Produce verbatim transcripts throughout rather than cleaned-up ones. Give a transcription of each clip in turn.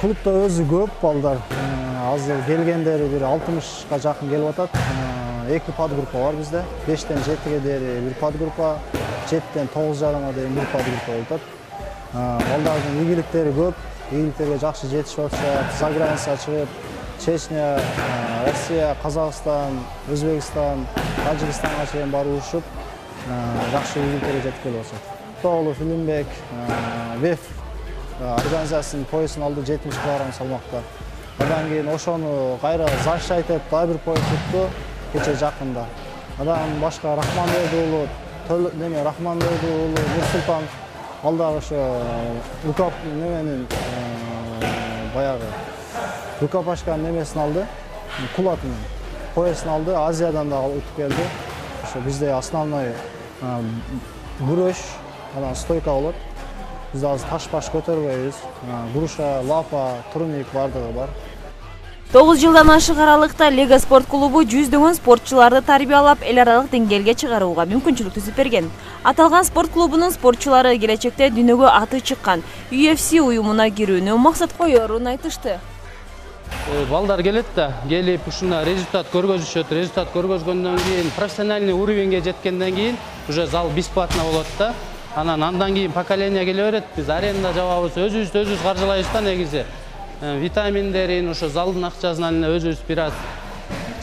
Клубда өзү көп балдар. Азыр келгендери бир алтымышка жакын келип атат. Эки подгруппа бар бизде. бештен жетиге дейин бир подгруппа, жетиден тогуз жарымга дейин бир подгруппа болуп атат. Балдардын ийгиликтери көп, ийгиликтерге жакшы жетишип атышат. За границага чыгып, Чечня, Россия, Казакстан, Өзбекстан, Тажикстанга чейин барып урушуп, жакшы ийгиликтерге жетип келип атышат. Тоолу Филимбек, ВЭФ организациянын поясын алды жетимиш килограмм салмакта. Андан кийин ошону кайра защищать дагы бир пояс тутту кече жакында. Андан башка Рахманбек уулу, неме Рахманбек уулу Нурсултан ал дагы ошо укап неменин баягы рукопашканын немесин алды, кулатын поясын алды, Азиядан да утуп келди. Ошо бизде основной күрөш, анан стойка болот. Biz azı taş-baş көтөрбөйбүз. Груша, лапа, турник бардыгы бар. тогуз жылдан ашык аралыкта Лега спорт клубу жүздөгөн спортчуларды тарбиялап, эл аралык деңгээлге чыгарууга мүмкүнчүлүк түзүп берген. Аталган спорт клубунун спортчулары келечекте дүйнөгө аты чыккан ю эф си уюмуна кирүүнү максат коерун айтышты. Балдар келет да, келип ушуна результат көргөзүшөт. Результат көргөзгөндөн кийин профессиональный уровеньге жеткенден кийин уже зал бесплатно болот да. Анан андан кийин поколение келе берет. Биз аренда жабабыз, өзүбүз өзүбүз каржылайбыз да негизи. Витаминдерин ошо залдын акчасынан эле өзүбүз бир аз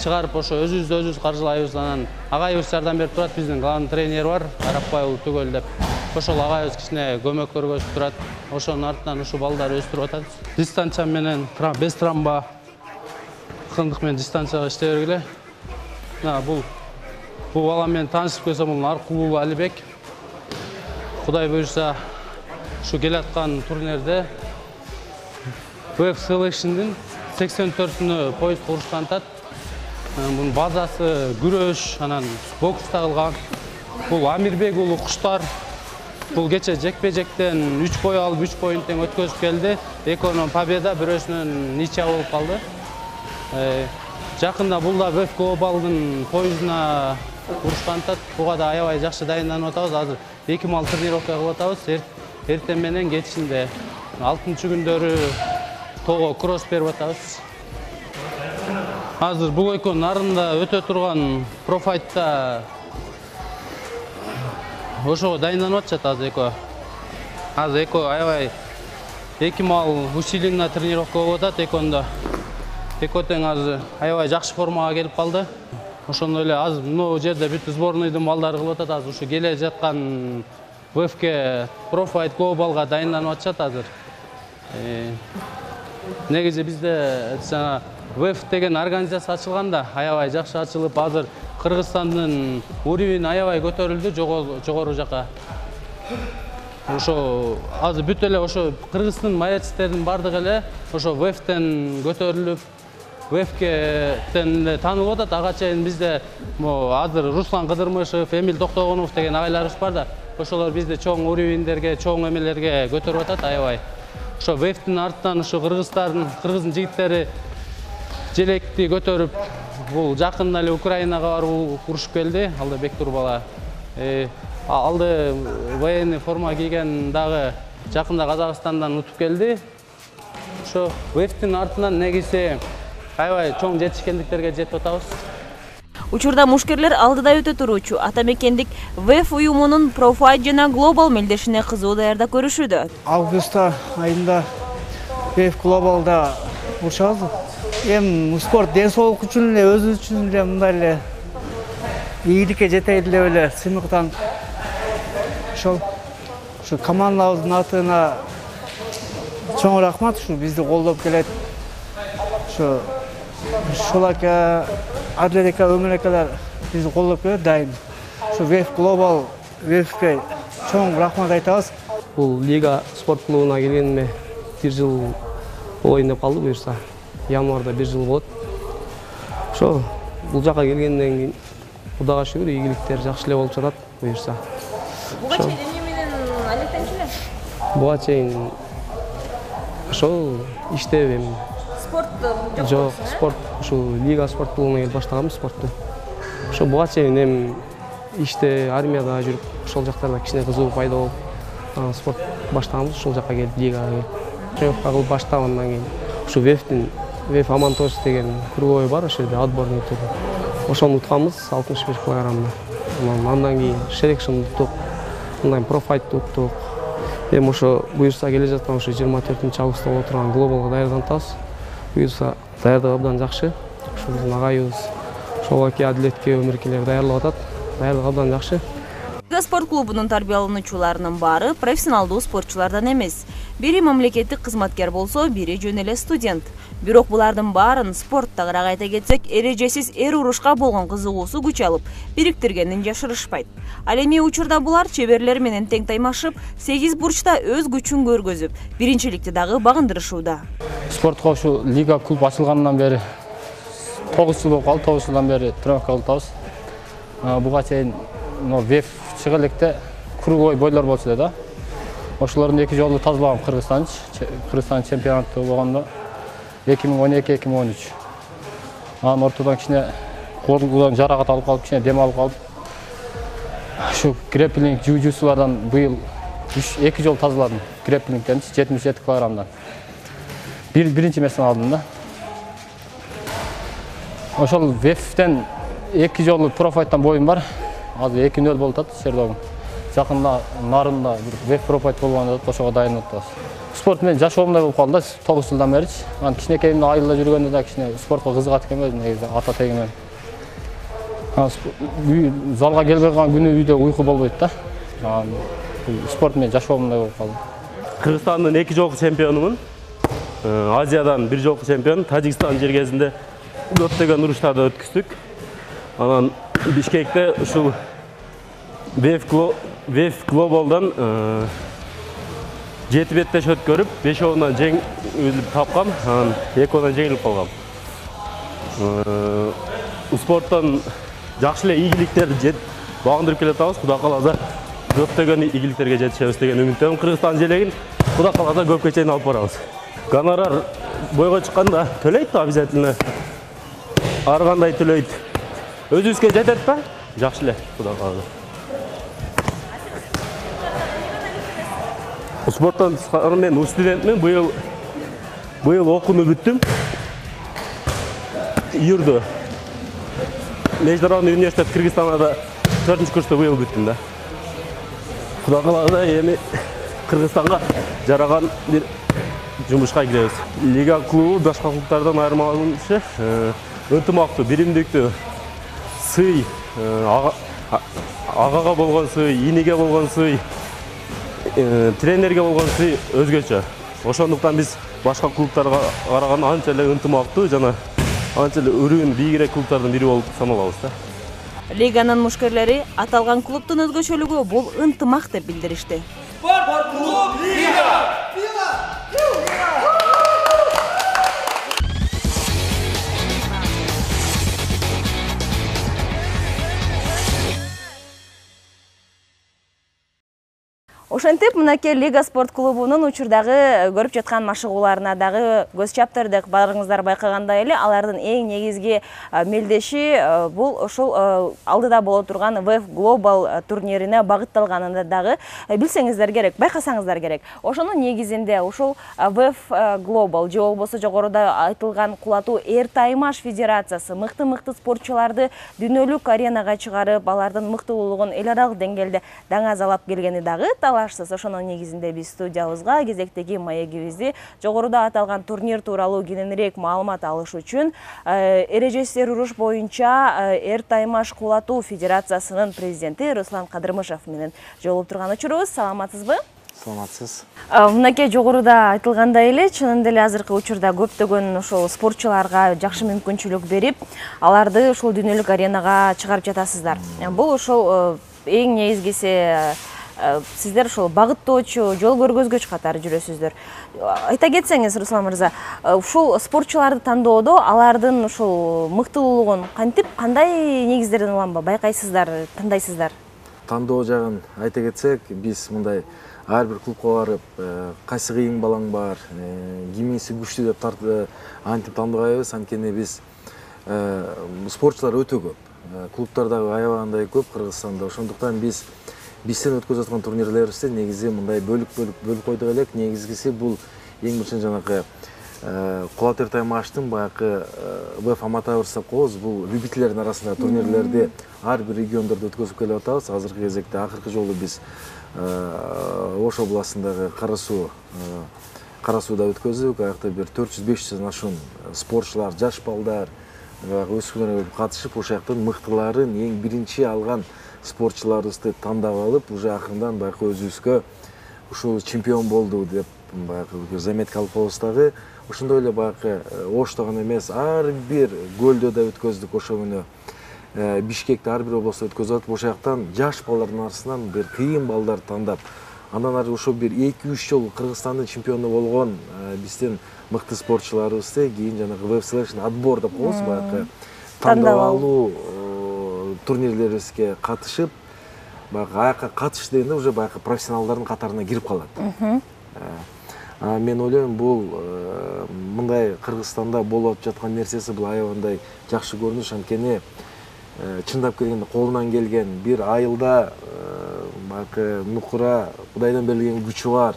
чыгарып ошо өзүбүз өзүбүз каржылайбыз. Анан агайыбыз жардам берип турат. Биздин главный тренер бар, Арапбай уулу Түгөл деп. Ошол агайыбыз кичине көмөк көргөзүп турат. Ошонун артынан ушу балдар өстүрүп атат. Дистанция менен без травма кындык менен дистанцияга иштей бергиле. Мына бул бул бала менен таанышып келсем, бул Аркулуу Алибек. Кудай буйрса, şu келаткан турнирде ВЭФ Selection'дин сексен төртүнө пояс курушкан атат. Бунун базасы күрөш, анан бокста кылган. Бул Амирбек уулу Куштар. Бул кече жекпе-жектен үч бой алып, үч боюн тең өткөзүп келди. Экөөнүн победа, бирөөсүнүн ничья болуп калды. Жакында бул да ВЭФ Глобалдын поясына урушкан атат. Буга да аябай жакшы дайынданып атабыз. Азыр эки мал тренировка кылып атабыз. Эртең менен кечинде алтынчы күндөрү тоого кросс берип атабыз. Азыр бул экөөнүн нарында өтө турган профайтта ошого дайынданып атышат азыр экөө. Азыр экөө аябай эки мал усиленно тренировка болуп атат экөөндө. Экөө тең азыр аябай жакшы формага келип калды. Ошондой эле азыр мына жерде бүт сборныйдын балдары кылып атат. Азыр ушу келе жаткан ВЭФке Профайт Глобалга дайынданып атышат азыр. Негизи бизде жана ВЭФ деген организация ачылганда аябай жакшы ачылып, азыр Кыргызстандын уровени аябай көтөрүлдү жогору жака. Ошо азыр бүт эле ошо Кыргыздын маячтардын бардыгы эле ошо ВЭФтен көтөрүлүп, ВЭФтен таанылып атат. Ага чейин бизде азыр Руслан Кыдырмышев, Эмил Токтогонов деген агайларыбыз бар да. Ошолор бизде чоң уровендерге, чоң эмелерге көтөрүп атат аябай. Ошо ВЭФтин артынан ошо кыргыздардын, кыргыздын жигиттери желекти көтөрүп, бул жакында эле Украинага барып урушуп келди. Алда Бектур бала. Алды военный форма кийген дагы жакында Казакстандан утуп келди. Ошо ВЭФтин артынан негизи аябай чоң жетишкендиктерге жетип атабыз. Учурда мушкерлер алдыда өтө туруучу атамекендик ВЭФ уюмунун Профайт жана Глобал мелдешине кызуу даярда көрүшүүдө. Август айында ВЭФ Глобалда урушабыз. Эми спорт ден соолук үчүн эле, өзүбүз үчүн эле мындай эле ийгиликке жетейин деп эле сыймыктан ошол ушу командабыздын атына чоң рахмат, ушу бизди колдоп келет. Ушу Шулака, Адлерека, Өмүрекалар бизди колдоп келет дайым. Ушу ВЭФ Глобал, ВЭФке чоң рахмат айтабыз. Бул Лига спорт клубуна келгениме бир жыл болоюн деп калды буюрса. Январда бир жыл болот. Ошо бул жака келгенден кийин Кудайга шүгүр ийгиликтер жакшы эле болуп жатат буюрса. Буга чейин эмне менен алектенчү эле? Буга чейин ошол иштеп эми. Спорт жок. Жок, спорт ушу Лига спорт клубуна келип баштагам спортту. Ошо буга чейин эми иште, армияда жүрүп, ошол жактарда кичине кызыгуу пайда болуп, спорт баштаганбыз, ушул жакка келип, лигага келип. Тренировка кылып баштап, андан кийин ушу вефтин, веф Амантош деген круговой бар, ошол жерде отборный өтөдү. Ошону утканбыз алтымыш беш килограммда. Андан кийин шерекшин уттук, андан профайтты уттук. Эми ошо буюрса келе жаткан ошо жыйырма төртүнчү августта боло турган глобалга даярданабыз. Буюрса даярдык абдан жакшы. Ошо биздин агайыбыз Шолоке, Адилетке өмүркелер даярлап атат. Даярдык абдан жакшы. Лига спорт клубунун тарбиялануучуларынын баары профессионалдуу спортчулардан эмес. Бири мамлекеттик кызматкер болсо, бири жөн эле студент. Бирок булардын баарын спорттагыраак айта кетсек, эрежесиз эр урушка болгон кызыгуусу күч алып, бириктиргенин жашырышпайт. Ал эми учурда булар чеберлер менен тең таймашып, сегиз бурчта өз күчүн көргөзүп, биринчиликти дагы багындырышууда. Спортко ушу лига клуб ачылгандан бери тогуз жыл болуп калды, тогуз жылдан бери тренировка кылып атабыз. Буга чейин веф чыга электе круговой бойлор болчу да. Ошолордун эки жолу тазалагам Кыргызстан, Кыргызстан чемпионаты болгондо эки миң он эки — эки миң он үч. Анан ортодон кичине колдон жаракат алып калып, кичине дем алып калып, ушу грэпплинг, жужусулардан быйыл эки жол тазаладым. Грэпплингден жетимиш жети килограммдан. Бир биринчи месени алдым да. Ошол вефтен эки жолу профайттан боюм бар. Азыр эки нөл болуп атат Сердогум. Жакында Нарында бир веф профайт болгондо ошого дайын атабыз. Спорт менен жашоомдой болуп калды тогуз жылдан бери. Анан кичинекейимде айылда жүргөндө да кичине спортко кызыгат экенмин негизи ата тегимен. Залга келбей калган күнү үйдө уйку болбойт да. Анан спорт менен жашоомдой болуп калды. Кыргызстандын эки жолку чемпионумун. Азиядан бир жолку чемпион. Тажикстан жергесинде көптөгөн уруштарды өткүздүк. Анан Бишкекте ушул веф глобалдан жети беттеш өткөрүп, бешөөүнөн жеңилип тапкам, анан экөөдөн жеңилип калгам. Спорттон жакшы эле ийгиликтерди багындырып келатабыз. Кудай кааласа көптөгөн ийгиликтерге жетишебиз деген үмүттөмүн. Кыргызстан желегин кудай кааласа көпкө чейин алып барабыз. Гонорар бойго чыкканда төлөйт обязательно. Ар кандай төлөйт. Өзүбүзгө жетет ба? Жакшы эле, кудай кааласа. Спорттон тышкары мен студентмин. Быйыл быйыл окууну бүттүм. Июрду Международный университет Кыргызстанда төртүнчү курста быйыл бүттүм да. Кудай кааласа эми Кыргызстанга жараган бир жумушка киребиз. Лига клубу башка клубдардан айырмаланышы ынтымактуу, биримдиктүү, сый, агага болгон сый, иниге болгон сый, тренерге болгон сый өзгөчө. Ошондуктан биз башка клубтарга караганда анча эле ынтымактуу жана анча эле өрүүн бийигирээк клубтардын бири болуп саналабыз да. Лиганын мушкерлери аталган клубтун өзгөчөлүгү бул ынтымак деп билдиришти. Спорт клуб Лига! Ошентип, мынакей Лига спорт клубунун учурдагы көрүп жаткан машыгууларына дагы көз чаптырдык. Баарыңыздар байкагандай эле, алардын эң негизги мелдеши бул ошол алдыда боло турган веф Global турнирине багытталганында дагы билсеңиздер керек, байкасаңыздар керек. Ошонун негизинде ошол веф Global же болбосо жогоруда айтылган кулатуу эр таймаш федерациясы мыкты-мыкты спортчуларды дүйнөлүк аренага чыгарып, алардын мыктуулугун эл аралык деңгээлде даңазалап келгени дагы Ошонун негизинде биз студиябызга кезектеги маегибизди жогоруда аталган турнир тууралуу кененирээк маалымат алыш үчүн эрежеси эр уруш боюнча эр таймаш кулатуу федерациясынын президенти Руслан Кадырмышев менен жолугуп турган учурубуз. Саламатсызбы? Саламатсыз. Мынакей жогоруда айтылгандай эле, чынында эле азыркы учурда көптөгөн ошол спортчуларга жакшы мүмкүнчүлүк берип, аларды ошол дүйнөлүк аренага чыгарып жатасыздар. Бул ошол эң негизгиси сиздер ошол багыттоочу, жол көргөзгүч катары жүрөсүздөр. Айта кетсеңиз, Руслан мырза, ушул спортчуларды тандоодо алардын ушул мыктуулугун кантип, кандай негиздерден уланба байкайсыздар, тандайсыздар? Тандоо жагын айта кетсек, биз мындай ар бир клубка барып, кайсы кыйын балаң бар, кимиси күчтүү деп тартып антип тандабайбыз, анткени биз спортчулар өтө көп. клубтар дагы аябагандай көп Кыргызстанда. Ошондуктан биз бизден өткөзүп аткан турнирлерибизде негизи мындай бөлүк-бөлүк бөлүп койдук элек. Негизгиси бул эң биринчи жанагы Кулатер Таймаштын баягы ВФ Аматаурс деп коебуз. Бул любительдердин арасындагы турнирлерди ар бир региондордо өткөзүп келип атабыз. Азыркы кезекте акыркы жолу биз Ош областындагы Кара Суу Кара Сууда өткөздүк. Аякта бир төрт жүз беш жүздөн ашуун спортчулар, жаш балдар, өспүрүмдөр катышып, ошол жактан мыктыларын, эң биринчи алган спортчуларыбызды тандап алып, уже акырындан баягы өзүбүзгө ушул чемпион болду деп баягы заметка алып коебуз дагы. Ошондой эле баягы Ошто гана эмес, ар бир көлдө да өткөздүк. Ошо күнү Бишкекте ар бир областта өткөзүп атып, ошол жактан жаш балдардын арасынан бир кыйын балдар тандап, андан ары ошо бир эки үч жолу Кыргызстандын чемпиону болгон биздин мыкты спортчуларыбызды кийин жанагы веб селекшн отбор деп коебуз, баягы тандап алуу турнирлерибизге катышып, баягы аякка катыш дегенде уже баягы профессионалдардын катарына кирип калат. Мен ойлойм, бул мындай Кыргызстанда болуп жаткан нерсеси бул аябагандай жакшы көрүнүш. Анткени чындап келгенде колунан келген бир айылда баягы нукура Кудайдан берилген күчү бар.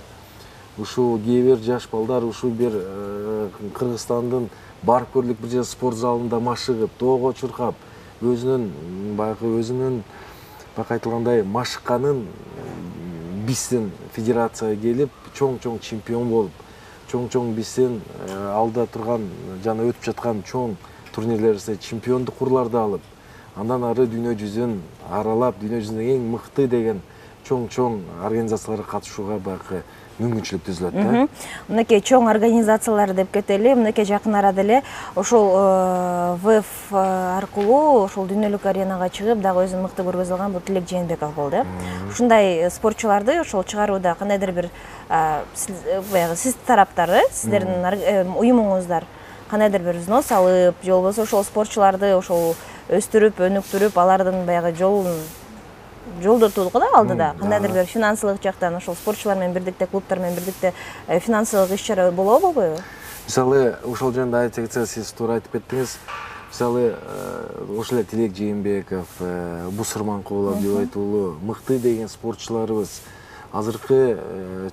Ушул кээ бир жаш балдар ушул бир Кыргызстандын барып көрүлүк бир жер спорт залында машыгып, тоого чуркап, өзүнүн баягы өзүнүн бак айтылгандай машыкканын биздин федерацияга келип, чоң-чоң чемпион болуп, чоң-чоң биздин алда турган жана өтүп жаткан чоң турнирлерибизде чемпиондук урларды алып, андан ары дүйнө жүзүн аралап, дүйнө жүзүндөгү эң мыкты деген чоң-чоң организацияларга катышууга баягы мүмкүнчүлүк түзүлөт да. Мынакей чоң организациялар деп кетели, мынакей жакын арада эле ошол ВФ аркылуу ошол дүйнөлүк аренага чыгып, дагы өзүн мыкты көргөзө алган бул Тилек Жээнбеков болду. Ушундай спортчуларды ошол чыгарууда кандайдыр бир баягы сиз тараптары, сиздердин уюмуңуздар кандайдыр бир взнос алып, же болбосо ошол спортчуларды ошол өстүрүп, өнүктүрүп, алардын баягы жолун жолдотууга да алдыда кандайдыр бир финансылык жактан ошол спортчулар менен бирдикте, клубтар менен бирдикте финансылык иш-чара болобу, болбойбу? Мисалы, ошол жөнүндө айта кетсек, сиз туура айтып кеттиңиз. Мисалы, ошол эле Тилек Жээнбеков, Бусурманкулов деп айтылуу мыкты деген спортчуларыбыз азыркы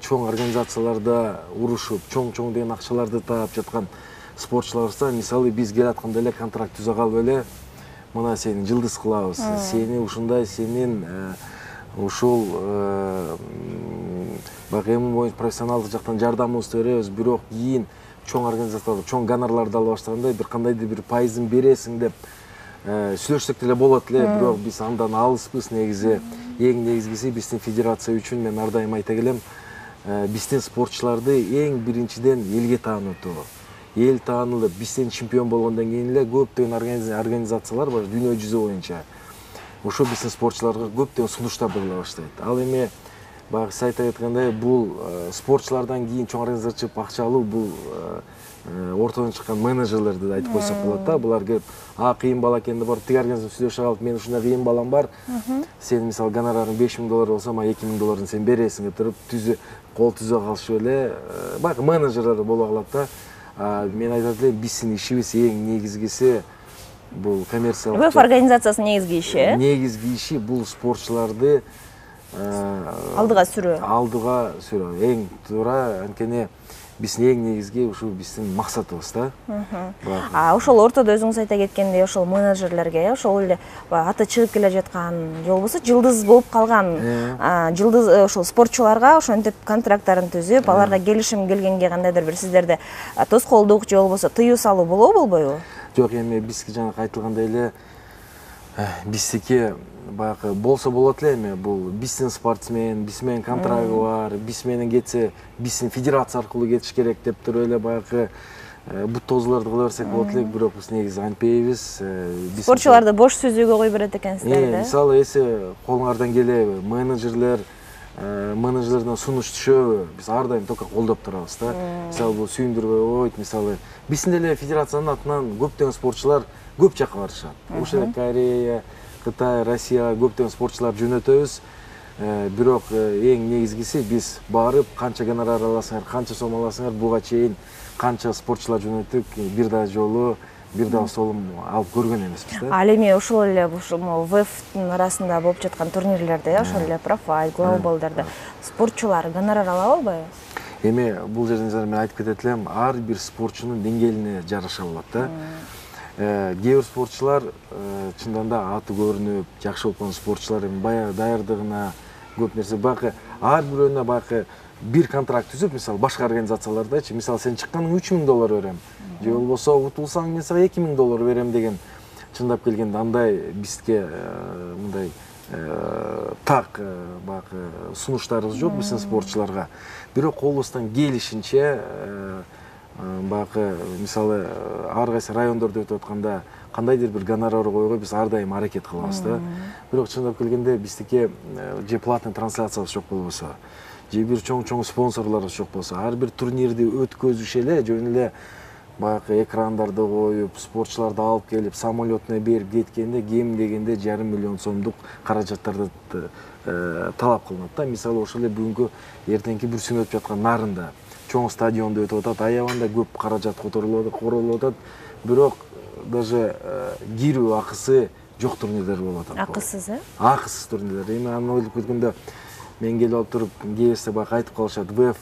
чоң организацияларда урушуп, чоң-чоң деген акчаларды таап жаткан спортчуларыбызда, мисалы, биз келатканда эле контракт түзө калып эле, мына сени жылдыз кылабыз, сени ушундай, сенин ушул баягы эми боюнча профессионалдык жактан жардамыбызды беребиз, бирок кийин чоң организациялар, чоң гонорарларды ала баштаганда бир кандайдыр бир пайызын бересиң деп сүйлөшсөк деле болот эле, бирок биз андан алыспыз. Негизи эң негизгиси биздин федерация үчүн мен ар дайым айта келем, биздин спортчуларды эң биринчиден элге таанытуу. Эл таанылып, бизден чемпион болгондон кийин эле көптөгөн организациялар бар дүйнө жүзү боюнча. Ошо биздин спортчуларга көптөгөн сунуштарды кыла баштайт. Ал эми баягы сиз айтып аткандай, бул спортчулардан кийин чоң организация чыгып акча алуу, бул ортодон чыккан менеджерлерди айтып койсок болот да. Булар келип, а кыйын бала экен деп барып тиги организация сүйлөшүп алып, мен ушундай кыйын балам бар, сен мисалы гонорарың беш миң доллар болсо, мага эки миң долларын сен бересиң деп туруп, түзө кол түзө калышып эле баягы менеджерлер боло калат да. Мен айтат элем, биздин ишибиз эң негизгиси бул коммерциялык. ВФ организациясынын негизги иши, э? Негизги иши бул спортчуларды алдыга сүрүү. Алдыга сүрүү. Эң туура, анткени биздин эң негизги ушул биздин максатыбыз да. А ошол ортодо өзүңүз айта кеткендей, ошол менеджерлерге, ошол эле аты чыгып келе жаткан, же болбосо жылдыз болуп калган жылдыз ошол спортчуларга ошентип контракттарын түзүп, аларга келишим келгенге кандайдыр бир сиздерде тоскоолдук же болбосо тыюу салуу болобу, болбойбу? Жок, эми бизге жанагы айтылгандай эле биздики баягы болсо болот эле, эми бул биздин спортсмен, биз менен контрагы бар, биз менен кетсе, биздин федерация аркылуу кетиш керек деп туруп эле баягы бут тоозуларды кыла берсек болот элек, бирок биз негизи антпейбиз. Спортчуларды бош сүзүүгө кой берет экенсиздер да. Мисалы, эсе колуңардан келеби, менеджерлер менеджерлерден сунуш түшөбү, биз ар дайым только колдоп турабыз да. Мисалы, бул сүйүндүрбөй койт, мисалы, биздин эле федерациянын атынан көптөгөн спортчулар көп жакка барышат. Ошол эле Корея, Кытай, Россия көптөгөн спортчулар жөнөтөбүз. Бирок эң негизгиси биз барып, канча гонорар аласыңар, канча сом аласыңар, буга чейин канча спортчулар жөнөттүк, бир да жолу бир дагы столум алып көргөн эмеспиз да. Ал эми ошол эле ВЭФтин арасында болуп жаткан турнирлерде, ошол эле профайл, глобалдарда спортчулар гонорар ала албайбы? Эми бул жерден мен айтып кетет элем, ар бир спортчунун деңгээлине жараша болот да. Кээ бир спортчулар чындан да аты көрүнүп, жакшы болуп калган спортчулар эми баягы даярдыгына көп нерсе бакы ар бирөөнө бакы бир контракт түзүп, мисалы башка организациялардачы, мисалы сен чыкканың үч миң доллар берем, же болбосо утулсаң мен сага эки миң доллар берем деген чындап келгенде андай бизге мындай так бакы сунуштарыбыз жок биздин спортчуларга. Бирок колубуздан келишинче бакы мисалы ар кайсы райондордо өтүп атканда кандайдыр бир гонорар койгого биз ар дайым аракет кылабыз да. Бирок чындап келгенде биздики же платный трансляциябыз жок болбосо, же бир чоң-чоң спонсорлорубуз жок болсо, ар бир турнирди өткөзүш эле жөн эле баягы экрандарды коюп, спортчуларды алып келип, самолетуна берип кеткенде кем дегенде жарым миллион сомдук каражаттарды талап кылынат да. Мисалы ошол эле бүгүнкү эртеңки бүрсүн өтүп жаткан Нарында чоң стадиондо өтүп атат, аябаганда көп каражат которулуп атат, бирок даже кирүү акысы жок турнирлер болуп атат. Акысыз, э? Акысыз турнирлер. Эми аны ойлоп көргөндө мен келип алып туруп, кээбирсе баягы айтып калышат, ВЭФ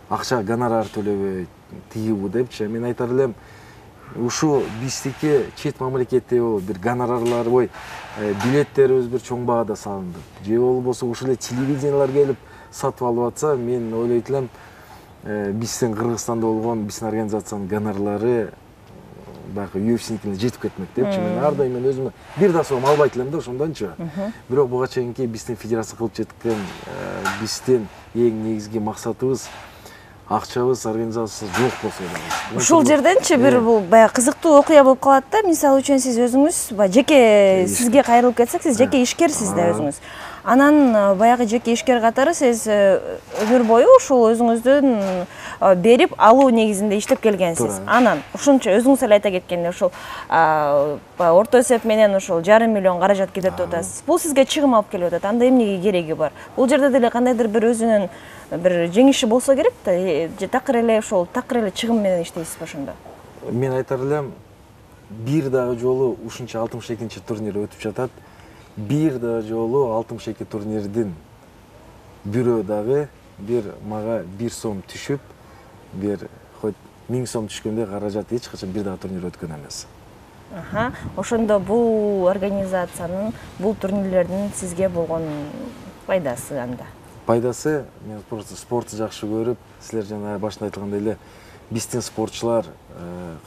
акча гонорар төлөбөйт, тигибу депчи. Мен айтар элем, ушу биздики чет мамлекетте бир гонорарлар, ой, билеттерибиз бир чоң баада салынды. Же болбосо ушул эле телевидениялар келип сатып алып атса, мен ойлойт элем, биздин Кыргызстанда болгон биздин организациянын гонорарлары баягы ю эф синикине жетип кетмек депчи. Мен ар дайым мен өзүмө бир да сом албайт элем да ошондончу. Бирок буга чейинки биздин федерация кылып жеткен биздин эң негизги максатыбыз акчабыз, организациясы жок болсо да. Ушул жерденчи бир бул баягы кызыктуу окуя болуп калат да. Мисалы үчүн сиз өзүңүз баягы жеке сизге кайрылып кетсек, сиз жеке ишкерсиз да өзүңүз. Анан баягы жеке ишкер катары сиз өмүр бою ушул өзүңүздүн берип алуу негизинде иштеп келгенсиз. Анан ушунча өзүңүз эле айта кеткендей ушул орто эсеп менен ушул жарым миллион каражат кетет деп атасыз. Бул сизге чыгым алып келип атат. Анда эмнеге кереги бар? Бул жерде деле кандайдыр бир өзүнүн бир жеңиши болсо керек да. Же такыр эле ошол такыр эле чыгым менен иштейсизби ошондо? Мен айтар элем, бир дагы жолу ушунча алтымыш экинчи турнир өтүп жатат. Бир дагы жолу алтымыш эки турнирдин бирөө дагы бир мага бир сом түшүп, бир хоть миң сом түшкөндө каражат эч качан бир дагы турнир өткөн эмес. Аха, ошондо бул организациянын, бул турнирлердин сизге болгон пайдасы анда? Пайдасы, мен просто спортты жакшы көрүп, силер жана башында айтылгандай эле биздин спортчулар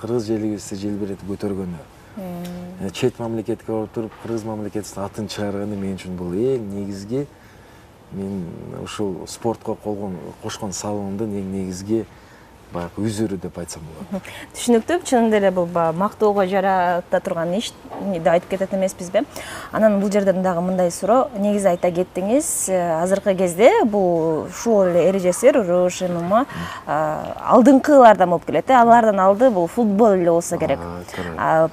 кыргыз элибизди желбиретип көтөргөнү. Чет мамлекетке барып туруп, кыргыз мамлекетинин атын чыгарганы мен үчүн бул эң негизги, мен ушул спортко кошкон салымымдын эң негизги баягы үзүрү деп айтсам болот. Түшүнүктүү, чынында эле бул мактоого жарата турган иш деп айтып кетет эмеспизби? Анан бул жерден дагы мындай суроо, негизи айта кеттиңиз, азыркы кезде бул ушул эле эрежесер, РОШ, ММА алдыңкылардан болуп келет. Алардан алды бул футбол эле болсо керек.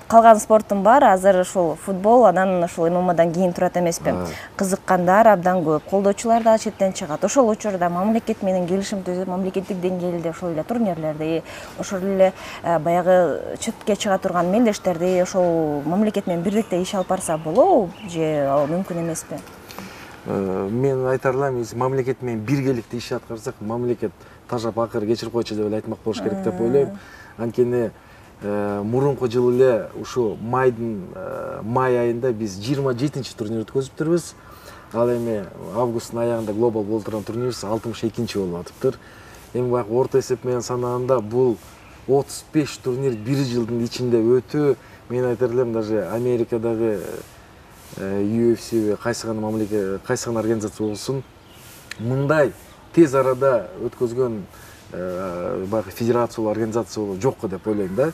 Калган спорттун баары азыр ушул футбол, анан ушул ММАдан кийин турат эмеспи? Кызыккандар абдан көп, колдоочулар да четтен чыгат. Ошол учурда мамлекет менен келишим түзүп, мамлекеттик деңгээлде ошол эле турнирлерди, ошол эле баягы четке чыга турган мелдештерди ошол мамлекет менен бирдикте иш алып барса болобу же ал мүмкүн эмеспи? Мен айтар элем, мамлекет менен биргеликте иш аткарсак, мамлекет тажап акыры кечирип койчу деп эле айтмак болуш керек деп ойлойм. Анткени мурунку жылы эле ушу майдын май айында биз жыйырма жетинчи турнир өткөзүптүрбүз. Ал эми августтун аягында глобал болуп турган турнирибиз алтымыш экинчи болуп атыптыр. Эми баягы орто эсеп менен санаганда бул отуз беш турнир бир жылдын ичинде өтүү, мен айтар элем, даже Америкадагы ю эф си кайсы гана мамлекет, кайсы гана организация болсун, мындай тез арада өткөзгөн баягы федерация, организация жок деп ойлойм да.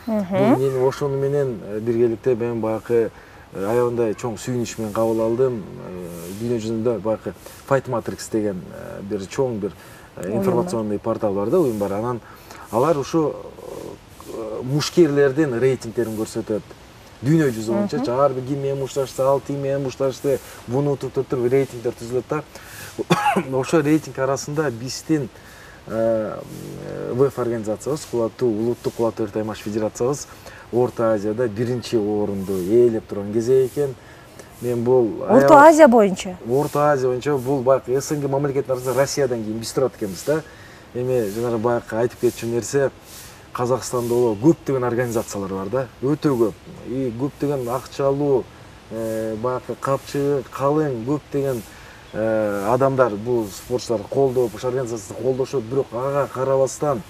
Мен ошону менен биргеликте мен баягы аябандай чоң сүйүнүч менен кабыл алдым. Дүйнө жүзүндө баягы Fight Matrix деген бир чоң бир информационный портал бар да, уюм бар. Анан алар ушу мушкерлердин рейтингтерин көрсөтөт. Дүйнө жүзү боюнча ар бир ким менен мушташты, ал тим менен мушташты, буну туруп туруп рейтингдер түзүлөт да. Ошо рейтинг арасында биздин ВЭФ организациябыз, кулаттуу улуттук кулаттуу таймаш федерациябыз Орто Азияда биринчи орунду ээлеп турган кезек экен. Мен бул Орто Азия боюнча. Орто Азия боюнча бул баягы СНГ мамлекеттин арасында Россиядан кийин биз турат экенбиз да. Эми жанагы баягы айтып кетчү нерсе, Казакстанда боло көптөгөн организациялар бар да, өтө көп. И көптөгөн акчалуу, баягы капчыгы калың көптөгөн адамдар бул спортчуларды колдоп, ошол организацияны колдошот, бирок ага карабастан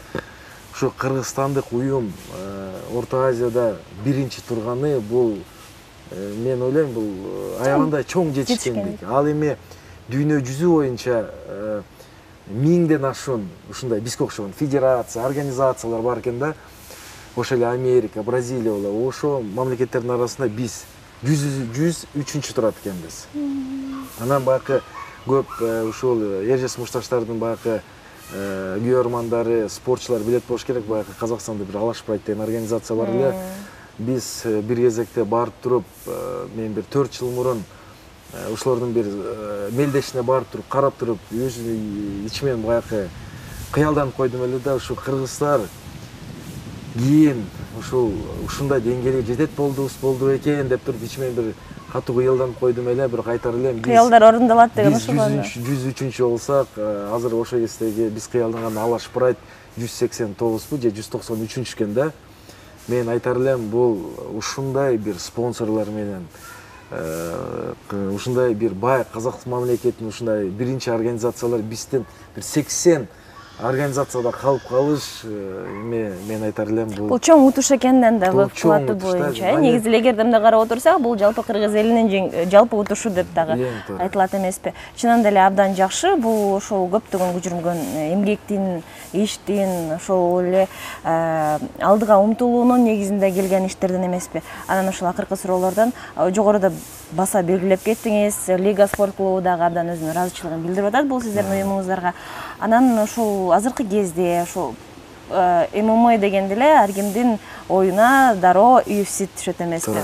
ушу кыргызстандык уюм Орто Азияда биринчи турганы бул мен ойлойм бул аябагандай чоң жетишкендик. Ал эми дүйнө жүзү боюнча миңден ашуун ушундай бизге окшогон федерация, организациялар бар экен да. Ошол эле Америка, Бразилия болобу, ошо мамлекеттердин арасында биз жүз үчүнчү турат экенбиз. Анан баягы көп ушул Эржес Мушташтардын баягы күйөрмандары, спортчулар билет болуш керек, баягы Казакстанда бир Алашпрайт деген организация бар эле. Биз бир кезекте барып туруп, мен бир төрт жыл мурун ушулардын бир мелдешине барып туруп, карап туруп, өз ичимен баягы кыялданып койдум эле да, ушу кыргыздар кийин ушул ушундай деңгээлге жетет болдубуз болду экен деп туруп ичимен бир катуу кыялданып койдум эле, бирок айтар элем биз кыялдар орундалат деген ошол. жүз үчүнчү болсак, азыр ошол кездеги биз кыялданган Алашпрайт жүз сексен тогузбу же жүз токсон үчүнчү экен да. Мен айтар элем бул ушундай бир спонсорлор менен ушундай бир бай Казакстан мамлекетинин ушундай биринчи организациялар бизден бир сексен организацияда калып калыш, эми мен айтар элем бул бул чоң утуш экенден да ВЭФ кулаты боюнча. Негизи эле эгерде мындай карап отурсак, бул жалпы кыргыз элинин жалпы утушу деп дагы айтылат эмеспи. Чынында эле абдан жакшы, бул ошол көптөгөн көчүргөн эмгектин, иштин, ошол эле алдыга умтулуунун негизинде келген иштерден эмеспи. Анан ошол акыркы суроолордон жогоруда баса белгилеп кеттиңиз, Лига спорт клубу дагы абдан өзүнүн ыраазычылыгын билдирип атат бул сиздердин уюмуңуздарга. Анан ошол азыркы кезде ошол ММА дегенде эле ар кимдин оюна дароо ю эф си түшөт эмеспи.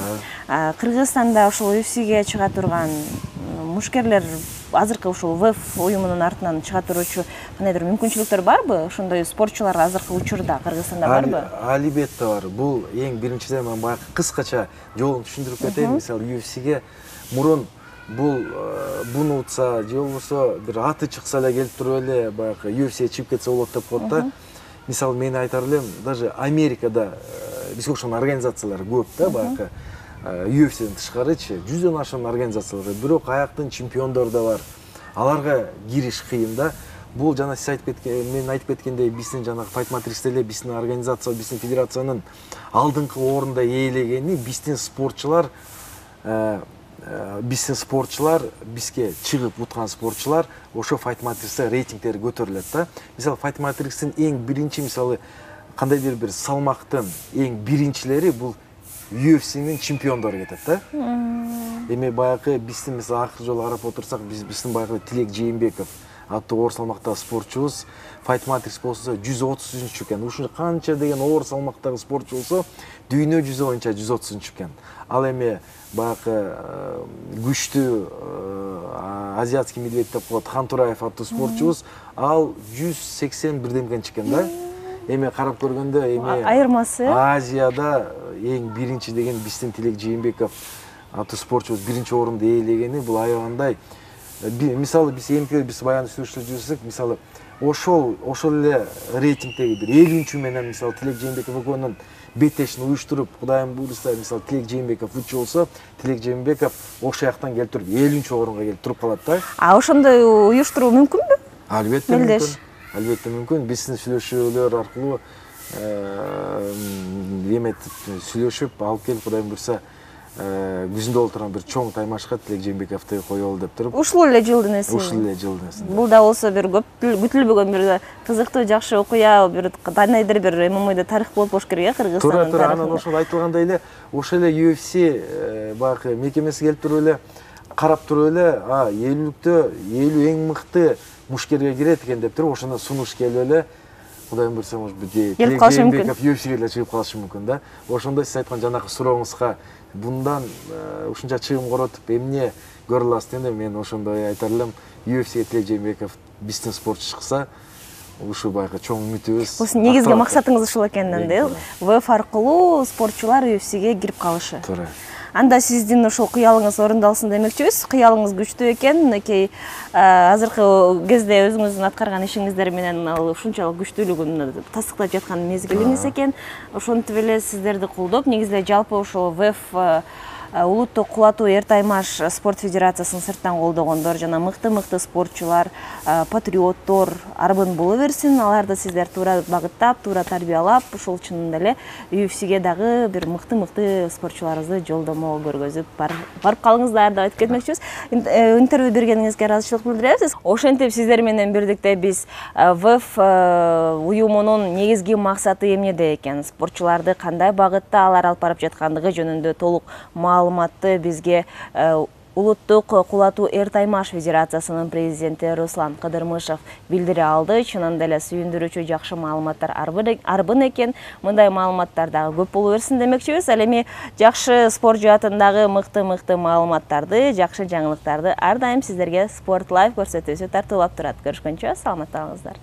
Кыргызстанда ошол ю эф сиге чыга турган мушкерлер азыркы ушул ВЭФ уюмунун артынан чыга туручу кандайдыр мүмкүнчүлүктөр барбы? Ошондой спортчулар азыркы учурда Кыргызстанда барбы? Албетте бар. Бул эң биринчиден мен баягы кыскача жолун түшүндүрүп кетейин. Мисалы ю эф сиге мурун бул буну утса же болбосо бир аты чыкса эле келип туруп эле баягы ю эф сиге чыгып кетсе болот деп коет да. Мисалы мен айтар элем, даже Америкада бизге окшогон организациялар көп да, баягы ю эф сиден тышкарычы жүздөн ашуун организациялар, бирок аяктын чемпиондору да бар. Аларга кириш кыйын да. Бул жана сиз айтып кеткен, мен айтып кеткендей, биздин жанагы Fight Matrix'те эле биздин организация, биздин федерациянын алдыңкы орунда ээлегени биздин спортчулар биздин спортчулар, бизге чыгып уткан спортчулар ошо Fight Matrix'те рейтингдери көтөрүлөт да. Мисалы Fight Matrix'тин эң биринчи, мисалы кандайдыр бир салмактын эң биринчилери бул ю эф синин чемпиондору кетет да. Эми баягы биздин мисалы акыркы жолу карап отурсак, биз биздин баягы Тилек Жээнбеков аттуу оор салмактагы спортчубуз Fight Matrix болсо жүз отузунчу экен. Ушул канча деген оор салмактагы спортчу болсо дүйнө жүзү боюнча жүз отузунчу экен. Ал эми баягы күчтүү азиатский медведь деп коет Хантураев аттуу спортчубуз, ал жүз сексен бирдемгенчи экен да. Эми карап көргөндө эми айырмасы Азияда эң биринчи деген биздин Тилек Жээнбеков аттуу спортчубуз биринчи орунду ээлегени бул аябагандай. Мисалы биз эмки биз баягы сүйлөшүп жүрсөк, мисалы ошол ошол эле рейтингдеги бир элүүнчү менен мисалы Тилек Жээнбеков экөөнүн беттешин уюштуруп, Кудайым буйруса, мисалы Тилек Жээнбеков үч болсо, Тилек Жээнбеков ошол жактан келип туруп элүүнчү орунга келип туруп калат да. А ошондой уюштуруу мүмкүнбү? Албетте мүмкүн. Албетте мүмкүн. Биздин сүйлөшүүлөр аркылуу эметип сүйлөшүп алып келип, Кудайым буйруса, күзүндө боло турган бир чоң таймашка Тилек Жээнбековду коелу деп туруп. Ушул эле жылдын эси. Ушул эле жылдын эси. Бул да болсо бир көп күтүлбөгөн бир кызыктуу жакшы окуя, бир кандайдыр бир ММАда тарых болуп болуш керек э Кыргызстандын. Туура, туура. Анан ошол айтылгандай эле ошол эле ю эф си баягы мекемеси келип туруп эле карап туруп эле, а элүүлүктө элүү эң мыкты мушкерге кирет экен деп туруп ошондо сунуш келип эле, Кудайым буйруса, может быть, Тилек Жээнбеков ю эф сиге эле чыгып калышы мүмкүн да. Ошондой сиз айткан жанакы сурооңузга bundan ушунча чыгым коротуп эмне көрө аласыз дегенде мен ошондой айтар элем, ю эф сиге Тилек Жээнбеков биздин спортчу чыкса, ушу баягы чоң үмүтүбүз. Бул негизги максатыңыз ушул экенин да, ВФ аркылуу спортчулар ю эф сиге кирип калышы. Туура. Анда сиздин ошол кыялыңыз орундалсын демекчибиз. Кыялыңыз күчтүү экен, мынакей азыркы кезде өзүңүздүн аткарган ишиңиздер менен ал ушунчалык күчтүүлүгүн тастыктап жаткан мезгилиңиз экен. Ошентип эле сиздерди колдоп, негизинде жалпы ошол ВФ улуттук кулатуу эр таймаш спорт федерациясын сырттан колдогондор жана мыкты-мыкты спортчулар, патриоттор арбын боло берсин. Аларды сиздер туура багыттап, туура тарбиялап, ушул чынында эле ю эф сиге дагы бир мыкты-мыкты спортчуларыбызды жолдомо көргөзүп барып калыңыздар деп айтып кетмекчибиз. Интервью бергениңизге ыраазычылык билдиребиз. Ошентип сиздер менен бирдикте биз ВФ уюмунун негизги максаты эмнеде экен, спортчуларды кандай багытта алар алып барып жаткандыгы жөнүндө толук маалыматты бизге улуттук кулатуу эр таймаш федерациясынын президенти Руслан Кыдырмышев билдире алды. Чынында эле сүйүндүрүүчү жакшы маалыматтар арбын экен. Мындай маалыматтар дагы көп боло берсин демекчибиз. Ал эми жакшы спорт жаатындагы мыкты-мыкты маалыматтарды, жакшы жаңылыктарды ар дайым сиздерге Sport Life көрсөтүүсү тартуулап турат. Көрүшкөнчө саламатта болуңуздар.